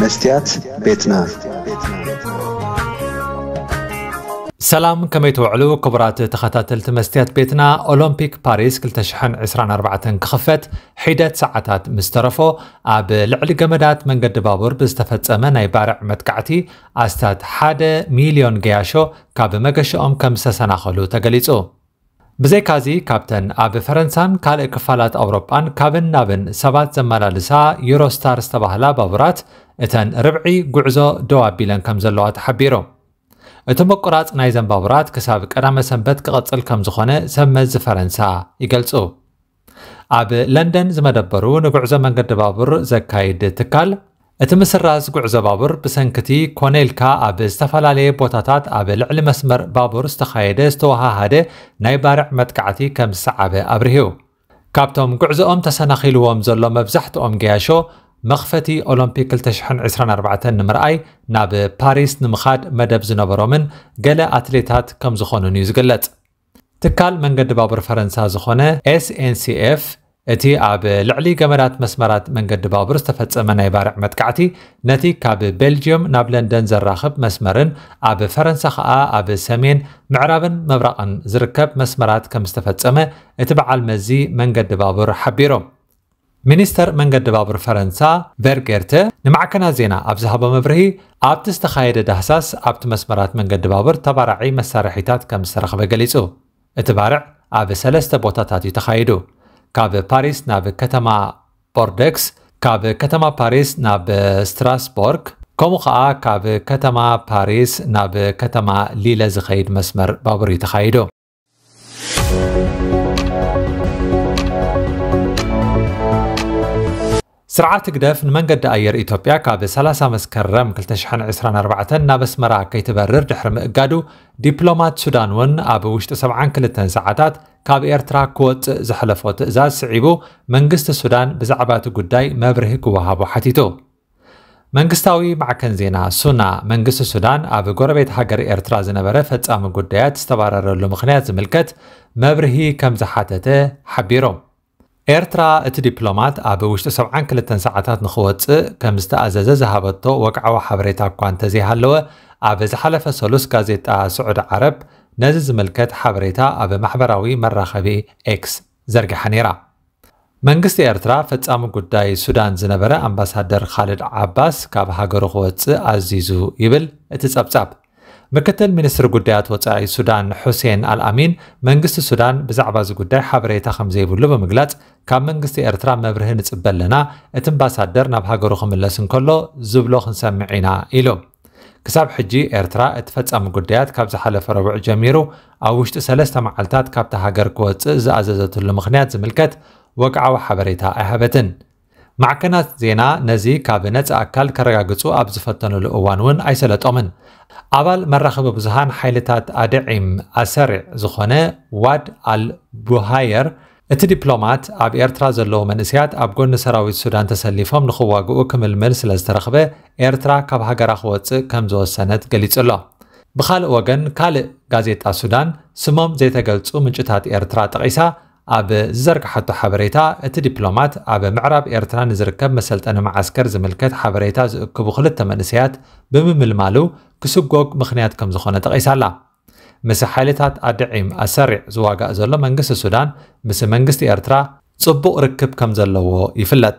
መስትያት ቤትና። ሰላም፣ ከመይ ትውዕሉ ክቡራት ተኸታተልቲ መስትያት ቤትና? ኦሎምፒክ ፓሪስ ክልተ ሽሕን ዕስራን ኣርባዕተን ክኽፈት ሒደት ሰዓታት ምስ ተረፎ፣ ኣብ ልዕሊ ገመዳት መንገዲ ባቡር ብዝተፈጸመ ናይ ባርዕ መጥቃዕቲ ኣስታት ሓደ ሚልዮን ገያሾ ካብ መገሸኦም ከም ዝተሰናኸሉ ተገሊጹ። ብዘይካዚ፣ ካብተን ኣብ ፈረንሳን ካልእ ክፋላት ኣውሮጳን ካብን ናብን ሰባት ዘመላልሳ ዩሮስታር ዝተባህላ ባቡራት፣ እተን ርብዒ ጉዕዞ ደው ኣቢለን ከም ዘለዋ ተሓቢሩ። እቲ ምቁራጽ ናይዘን ባቡራት ክሳብ ቀዳመ ሰንበት ክቐጽል ከም ዝኾነ ሰብ መዚ ፈረንሳ ይገልጹ። ኣብ ለንደን ዝመደበሩ ንጉዕዞ መንገዲ ባቡር ዘካይድ ትካል፣ እቲ ምስራዝ ጉዕዞ ባቡር ብሰንክቲ ኮነ ኢልካ ኣብ ዝተፈላለየ ቦታታት ኣብ ልዕሊ መስመር ባቡር ዝተኻየደ ዝተወሃሃደ ናይ ባርዕ መጥቃዕቲ ከም ዝሰዓበ ኣብርሂው። ካብቶም ጉዕዞኦም ተሰናኺልዎም ዘሎ መብዛሕትኦም ገያሾ፣ መኽፈቲ ኦሎምፒክ ክልተ ሽሕን ዕስራን ኣርባዕተን ንምርኣይ ናብ ፓሪስ ንምኻድ መደብ ዝነበሮምን ገለ ኣትሌታት ከም ዝኾኑን እዩ ዝግለጽ። ትካል መንገዲ ባቡር ፈረንሳ ዝኾነ ኤስ ኤን ሲ ኤፍ፣ እቲ ኣብ ልዕሊ ገመዳት መስመራት መንገዲ ባቡር ዝተፈጸመ ናይ ባርዕ መጥቃዕቲ፣ ነቲ ካብ ቤልጅየም ናብ ለንደን ዘራኽብ መስመርን ኣብ ፈረንሳ ኸኣ ኣብ ሰሜን፣ ምዕራብን ምብራቕን ዝርከብ መስመራት ከም ዝተፈጸመ እቲ በዓል መዚ መንገዲ ባቡር ሓቢሩ። ሚኒስተር መንገዲ ባቡር ፈረንሳ ቨርጌርተ ንማዕከናት ዜና ኣብ ዝሃቦ መብርሂ፣ ኣብቲ ዝተኻየደ ዳህሳስ ኣብቲ መስመራት መንገዲ ባቡር ተባራዒ መሳርሒታት ከም ዝተረኽበ ገሊጹ። እቲ ባርዕ ኣብ ሰለስተ ቦታታት እዩ ተኻይዱ። ካብ ፓሪስ ናብ ከተማ ቦርደክስ፣ ካብ ከተማ ፓሪስ ናብ ስትራስቦርግ፣ ከምኡ ኸኣ ካብ ከተማ ፓሪስ ናብ ከተማ ሊለ ዝኸይድ መስመር ባቡር እዩ ተኻይዱ። ስርዓት ህግደፍ ንመንገዲ ኣየር ኢትዮጵያ ካብ ሰላሳ መስከረም ክልተ ሽሕን ዕስራን ኣርባዕተን ናብ ኣስመራ ከይትበርር ድሕሪ ምእጋዱ፣ ዲፕሎማት ሱዳን እውን ኣብ ውሽጢ ሰብዓን ክልተን ሰዓታት ካብ ኤርትራ ክወጽእ ዘሕለፎ ትእዛዝ ስዒቡ፣ መንግስቲ ሱዳን ብዛዕባ እቲ ጉዳይ መብርሂ ክወሃቦ ሓቲቱ። መንግስታዊ ማዕከን ዜና ሱና፣ መንግስቲ ሱዳን ኣብ ጎረቤት ሃገር ኤርትራ ዝነበረ ፈጻሚ ጉዳያት ዝተባረረሉ ምኽንያት ዝምልከት መብርሂ ከም ዝሓተተ ሓቢሩ። ኤርትራ፣ እቲ ዲፕሎማት ኣብ ውሽጢ ሰብዓን ክልተን ሰዓታት ንኽወጽእ ከም ዝተኣዘዘ ዝሃበቶ ወግዓዊ ሓበሬታ እኳ እንተዘይሃለወ፣ ኣብ ዝሓለፈ ሰሉስ ጋዜጣ ስዑዲ ዓረብ ነዚ ዝምልከት ሓበሬታ ኣብ ማሕበራዊ መራኸቢ ኤክስ ዘርጊሓ ነይራ። መንግስቲ ኤርትራ፣ ፈጻሚ ጉዳይ ሱዳን ዝነበረ ኣምባሳደር ኻልድ ዓባስ ካብ ሃገሩ ክወጽእ ኣዚዙ ይብል እቲ ጸብጻብ። ምክትል ሚኒስትሪ ጉዳያት ወጻኢ ሱዳን ሑሴን ኣልኣሚን፣ መንግስቲ ሱዳን ብዛዕባ እዚ ጉዳይ ሓበሬታ ከም ዘይብሉ ብምግላጽ፣ ካብ መንግስቲ ኤርትራ መብርሂ ንጽበ ኣለና፣ እቲ ኣምባሳደር ናብ ሃገሩ ክምለስ እንከሎ ዝብሎ ክንሰምዕ ኢና ኢሉ። ክሳብ ሕጂ ኤርትራ እቲ ፈጻሚ ጉዳያት ካብ ዝሓለፈ ረቡዕ ጀሚሩ ኣብ ውሽጢ ሰለስተ መዓልታት ካብታ ሃገር ክወጽእ ዝኣዘዘትሉ ምኽንያት ዝምልከት ወግዓዊ ሓበሬታ ኣይሃበትን። ማዕከናት ዜና ነዚ ካብ ነጻ ኣካል ከረጋግጹ ኣብ ዝፈተኑሉ እዋን እውን ኣይሰለጦምን። ኣባል መራኸቢ ብዙሃን ሓይልታት ኣድዒም ኣሰሪዕ ዝኾነ ዋድ ኣል ቡሃየር፣ እቲ ዲፕሎማት ኣብ ኤርትራ ዘለዉ መንእሰያት ኣብ ጎኒ ሰራዊት ሱዳን ተሰሊፎም ንኽዋግኡ ክምልምል ስለ ዝተረኽበ፣ ኤርትራ ካብ ሃገራ ክወጽእ ከም ዝወሰነት ገሊጹ ኣሎ። ብኻልእ ወገን፣ ካልእ ጋዜጣ ሱዳን፣ ስሞም ዘይተገልጹ ምንጭታት ኤርትራ ጠቒሳ ኣብ ዝዘርግሓቶ ሓበሬታ፣ እቲ ዲፕሎማት ኣብ ምዕራብ ኤርትራ ንዝርከብ መሰልጠኒ መዓስከር ዝምልከት ሓበሬታ ዝእክቡ ክልተ መንእሰያት ብምምልማሉ ክስጎግ ምኽንያት ከም ዝኾነ ጠቒሳ ኣላ። ምስ ሓይልታት ኣድዒም ኣሰሪዕ ዝዋጋእ ዘሎ መንግስቲ ሱዳን፣ ምስ መንግስቲ ኤርትራ ጽቡቕ ርክብ ከም ዘለዎ ይፍለጥ።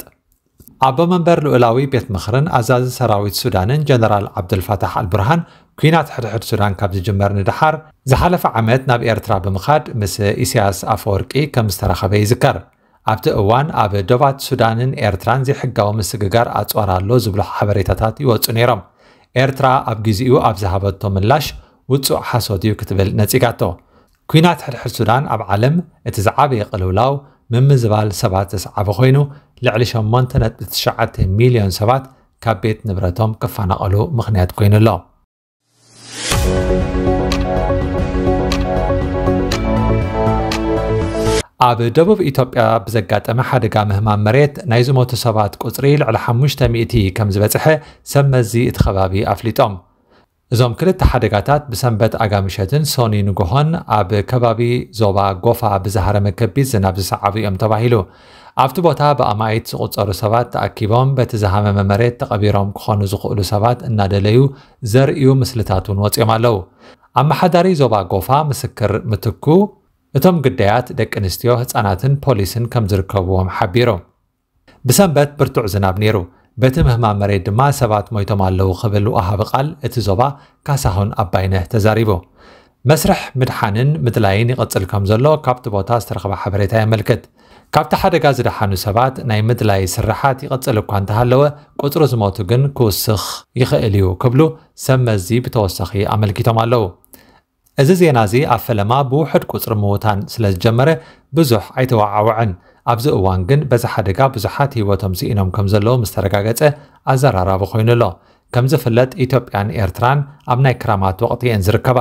ኣቦ መንበር ልኡላዊ ቤት ምኽርን ኣዛዚ ሰራዊት ሱዳንን ጀነራል ዓብዱልፋታሕ ኣልቡርሃን፣ ኲናት ሕድሕድ ሱዳን ካብ ዝጅመር ንደሓር ዝሓለፈ ዓመት ናብ ኤርትራ ብምኻድ ምስ ኢሳያስ ኣፈወርቂ ከም ዝተራኸበ ይዝከር። ኣብቲ እዋን ኣብ ዶባት ሱዳንን ኤርትራን ዘይሕጋዊ ምስግጋር ኣጽዋር ኣሎ ዝብሉ ሓበሬታታት ይወጹ ነይሮም። ኤርትራ ኣብ ግዜኡ ኣብ ዝሃበቶ ምላሽ፣ ውጹእ ሓሶት እዩ ክትብል ነጺጋቶ። ኲናት ሕድሕድ ሱዳን ኣብ ዓለም እቲ ዝዓበየ ቅልውላው ምምዝባል ሰባት ዘስዓበ ኮይኑ፣ ልዕሊ ሸሞንተ ነጥቢ ትሽዓተ ሚልዮን ሰባት ካብ ቤት ንብረቶም ክፈናቐሉ ምኽንያት ኮይኑ ኣሎ። ኣብ ደቡብ ኢትዮጵያ ብዘጋጠመ ሓደጋ ምህማም መሬት ናይ ዝሞቱ ሰባት ቁጽሪ ልዕሊ ሓሙሽተ ሚእቲ ከም ዝበጽሐ ሰብ መዚ እቲ ከባቢ ኣፍሊጦም። እዞም ክልተ ሓደጋታት ብሰንበት ኣጋምሸትን ሶኒ ንግሆን ኣብ ከባቢ ዞባ ጎፋ ብዝሃረመ ከቢድ ዝናብ ዝሰዓቡ እዮም ተባሂሉ። ኣብቲ ቦታ ብኣማኢት ዝቑጸሩ ሰባት ተኣኪቦም በቲ ዝሃመመ መሬት ተቐቢሮም ክኾኑ ዝኽእሉ ሰባት እናደለዩ ዘርእዩ ምስልታት እውን ወጺኦም ኣለዉ። ኣመሓዳሪ ዞባ ጎፋ ምስክር ምትኩ፣ እቶም ግዳያት ደቂ ኣንስትዮ፣ ህጻናትን ፖሊስን ከም ዝርከብዎም ሓቢሩ። ብሰንበት ብርቱዕ ዝናብ ነይሩ። በቲ ምህማም መሬት ድማ ሰባት ሞይቶም ኣለዉ ክብል ወሃቢ ቃል እቲ ዞባ ካሳሁን ኣባይነህ ተዛሪቡ። መስርሕ ምድሓንን ምድላይን ይቕጽል ከም ዘሎ ካብቲ ቦታ ዝተረኽበ ሓበሬታ የመልክት። ካብቲ ሓደጋ ዝደሓኑ ሰባት ናይ ምድላይ ስርሓት ይቕጽል እኳ እንተሃለወ፣ ቁጽሪ ዝሞቱ ግን ክውስኽ ይኽእል እዩ ክብሉ ሰብ መዚ ብተወሳኺ ኣመልኪቶም ኣለዉ። እዚ ዜና እዚ ኣብ ፈለማ ብውሑድ ቁጽሪ ምዉታን ስለ ዝጀመረ ብዙሕ ኣይተወዓወዐን። ኣብዚ እዋን ግን በዚ ሓደጋ ብዙሓት ህይወቶም ስኢኖም ከም ዘለዉ ምስ ተረጋገጸ ኣዘራራቢ ኮይኑ ኣሎ። ከም ዝፍለጥ ኢትዮጵያን ኤርትራን ኣብ ናይ ክራማት ወቕቲ እየን ዝርከባ።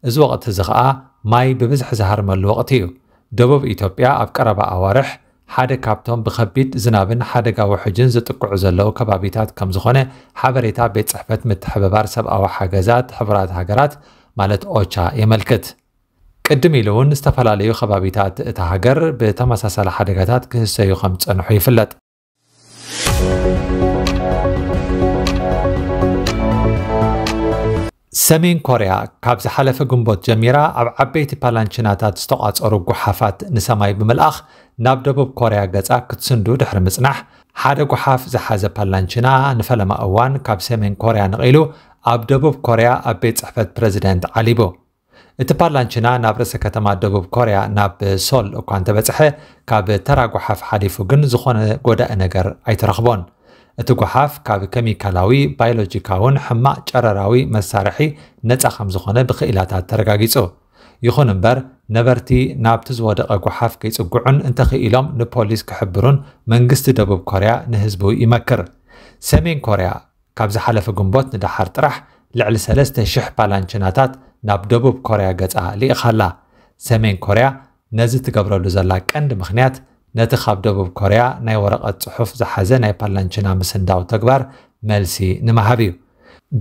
እዚ ወቕቲ እዚ ኸኣ ማይ ብብዝሒ ዝሃርመሉ ወቕቲ እዩ። ደቡብ ኢትዮጵያ ኣብ ቀረባ ኣዋርሕ ሓደ ካብቶም ብኸቢድ ዝናብን ሓደጋ ውሑጅን ዝጥቅዑ ዘለዉ ከባቢታት ከም ዝኾነ ሓበሬታ ቤት ጽሕፈት ምትሕብባር ሰብኣዊ ሓገዛት ሕቡራት ሃገራት ማለት ኦቻ የመልክት። ቅድም ኢሉ እውን ዝተፈላለዩ ከባቢታት እታ ሃገር ብተመሳሳሊ ሓደጋታት ክህሰዩ ከም ዝጸንሑ ይፍለጥ። ሰሜን ኮርያ ካብ ዝሓለፈ ግንቦት ጀሚራ ኣብ ዓበይቲ ፓላንችናታት ዝተቋጸሩ ጓሓፋት ንሰማይ ብምልኣኽ ናብ ደቡብ ኮርያ ገጻ ክትስንዱ ድሕሪ ምጽናሕ፣ ሓደ ጓሓፍ ዝሓዘ ፓላንችና ንፈለማ እዋን ካብ ሰሜን ኮርያ ነቒሉ ኣብ ደቡብ ኮርያ ኣብ ቤት ጽሕፈት ፕረዚደንት ዓሊቡ። እቲ ፓላንችና ናብ ርእሰ ከተማ ደቡብ ኮርያ ናብ ሶል እኳ እንተበጽሐ፣ ካብ ተራ ጓሓፍ ሓሊፉ ግን ዝኾነ ጎዳኢ ነገር ኣይተረኽቦን። እቲ ጓሓፍ ካብ ኬሚካላዊ፣ ባዮሎጂካውን ሕማቕ ጨረራዊ መሳርሒ ነጻ ከም ዝኾነ ብክኢላታት ተረጋጊጹ። ይኹን እምበር፣ ነበርቲ ናብቲ ዝወደቐ ጓሓፍ ከይጽግዑን እንተኽኢሎም ንፖሊስ ክሕብሩን መንግስቲ ደቡብ ኮርያ ንህዝቡ ይመክር። ሰሜን ኮርያ ካብ ዝሓለፈ ግንቦት ንደሓር ጥራሕ ልዕሊ ሰለስተ ሽሕ ፓላንችናታት ናብ ደቡብ ኮርያ ገጻ ልኢኻ ኣላ። ሰሜን ኮርያ ነዚ ትገብረሉ ዘላ ቀንዲ ምኽንያት ነቲ ካብ ደቡብ ኮርያ ናይ ወረቐት ጽሑፍ ዝሓዘ ናይ ፓላንችና ምስንዳው ተግባር መልሲ ንምሃብ እዩ።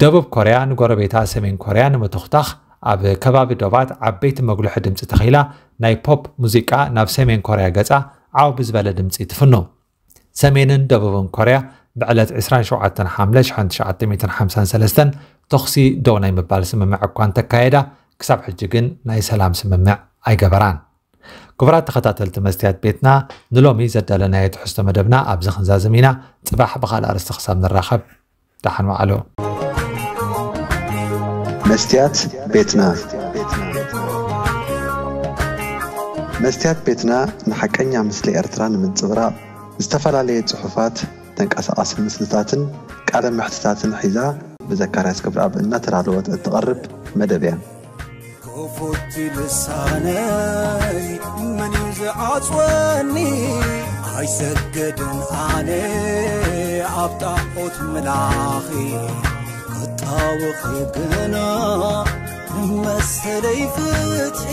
ደቡብ ኮርያ ንጎረቤታ ሰሜን ኮርያ ንምትኹታኽ ኣብ ከባቢ ዶባት ዓበይቲ መጉልሒ ድምጺ ተኺላ ናይ ፖፕ ሙዚቃ ናብ ሰሜን ኮርያ ገጻ ዓው ብዝበለ ድምጺ ትፍኑ። ሰሜንን ደቡብን ኮርያ ብዕለት ዕስራን ሸውዓተን ሓምለ ሽሕን ትሽዓተ ሚእትን ሓምሳን ሰለስተን ተኹሲ ደው ናይ ምባል ስምምዕ እኳ እንተካየዳ፣ ክሳብ ሕጂ ግን ናይ ሰላም ስምምዕ ኣይገበራን። ክቡራት ተኸታተልቲ መስትያት ቤትና፣ ንሎሚ ዘዳለናዮ ትሕዝቶ መደብና ኣብዚ ክንዛዝም ኢና። ጽባሕ ብኻልእ ኣርእስቲ ክሳብ ንራኸብ፣ ደሓን ዋዕሉ። መስትያት ቤትና። መስትያት ቤትና ንሓቀኛ ምስሊ ኤርትራ ንምንጽብራቕ ዝተፈላለየ ጽሑፋት፣ ተንቀሳቓሲ ምስልታትን ቃለ መሕትታትን ሒዛ ብዘካርያስ ገብረኣብ እናተዳለወት እትቐርብ መደብ እያ። ክፉት ልሳነይ መን እዩ ዝዓጽወኒ? ኣይሰግድን ኣነ ኣብ ጣዖት ምላኺ፣ ክጣወኺ ግና መሰለይ ፍትሒ።